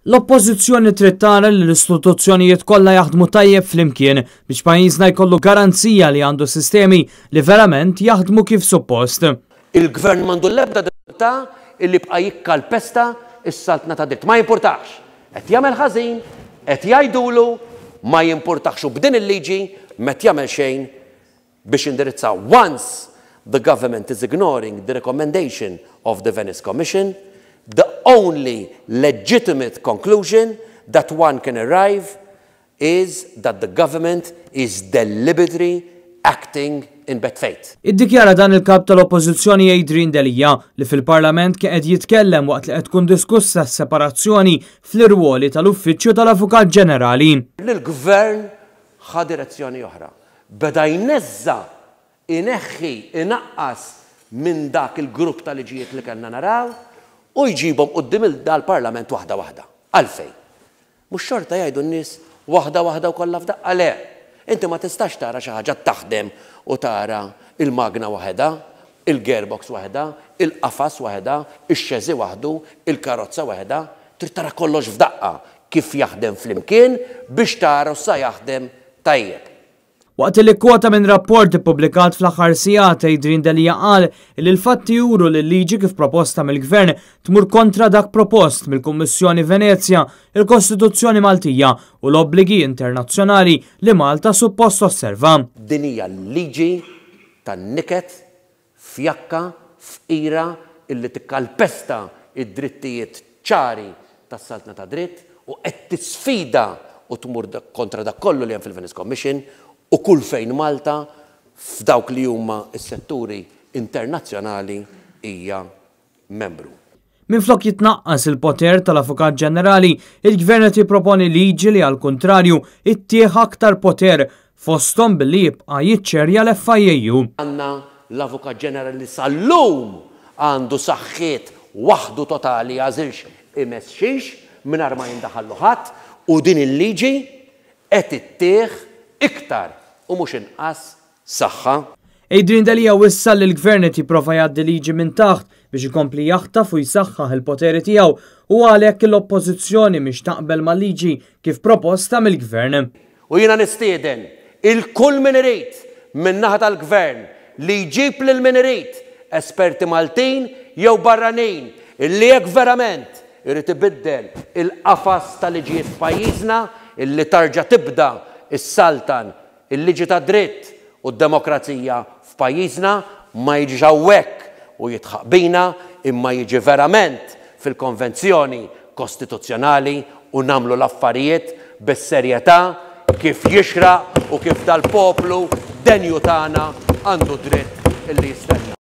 L-Oppożizzjoni trid tara li l-istituzzjonijiet kollha jaħdmu tajjeb flimkien biex pajjiżna jkollu garanzija li għandu sistemi li verament jaħdmu kif suppost. Il-Gvern m'għandu l-ebda diffikultà illi jibqa' jikkalpesta s-saltna tad-dritt. Ma jimpurtahx. Qed jagħmel ħażin, qed jgħidulu, ma jimpurtahx u b'din il-liġi m'qed jagħmel xejn biex jindirizza once the government is ignoring the recommendation of the Venice Commission, the only legitimate conclusion that one can arrive is that the government is deliberately acting in bad faith. Iddikjara dan il-Kap tal-Oppożizzjoni Adrian Delia li fil-Parlament kien qed jitkellem waqt li qed tkun diskussa s-separazzjoni fl-irwoli tal-Uffiċċju tal-Avukat Ġenerali. L-Gvern ħa direzzjoni oħra. Beda jneżża', ineħħi, inaqqas minn dak il-grupp ta' liġijiet li kellna naraw u jġibhom quddiem dal-Parlament waħda waħda. Għalfejn? Mhux xorta jgħidu n-nies waħda waħda u kollha f'daqqa? Le! Inti ma tistax tara xi ħaġa taħdem u tara l-magna waħedha, il-gearbox waħedha, il-qafas waħedha, ix-chassis waħdu, il-karozza waħedha. Trid tara kollox f'daqqa kif jaħdem flimkien biex tara sa jaħdem tajjeb. Waqt li kkwota minn rapport ippubblikat fl-aħħar sigħat, Adrian Delia qal li l-fatti juru li l-liġi kif proposta mill-Gvern tmur kontra dak propost mill-Kummissjoni Venezja, il-Kostituzzjoni Maltija u l-obbligi internazzjonali li Malta suppost tosserva. Din hija l-liġi tan-niket fjakka, fqira, illi tikkalpesta d-drittijiet ċari tas-saltna tad-dritt u qed tisfida u tmur kontra dak kollu li hemm fil-Venice Commission u kull fejn Malta f'dawk li huma s-setturi internazzjonali hija membru. Minflok jitnaqqas il-poter tal-Avukat Ġenerali, il-Gvern qed jipproponi liġi li għall-kuntrarju ittih aktar poter, fosthom billi jibqa' jiċċerja l-FIAU. Għandna l-Avukat Ġenerali li sal-lum għandu saħħiet waħdu totali jagħżilx imess xiex mingħajr ma jindaħallu ħadd u din il-liġi qed ittih iktar u mhux inqas saħħa. Adrian Delia wissa li l-Gvern qed jipprova jgħaddi liġi minn taħt biex ikompli jaħtaf u jsaħħaħ il-poteri tiegħu u għalhekk l-Oppożizzjoni mhix taqbel mal-liġi kif proposta mill-Gvern. U jiena nistieden 'il kull min irid min-naħa tal-Gvern li jġib lil min irid, esperti Maltin jew barranin, illi jekk verament irid ibiddel il-qafas ta' liġijiet f'pajjiżna, illi tarġa' tibda ssaltan Il-liġi tad-dritt u d-demokrazija f'pajjiżna ma jiġix hawnhekk u jidħaq bina imma jiġi verament fil-konvenzjoni kostituzzjonali u nagħmlu l-affarijiet bis-serjetà kif jixraq u kif dal-poplu denju tagħna għandu dritt illi jistenna.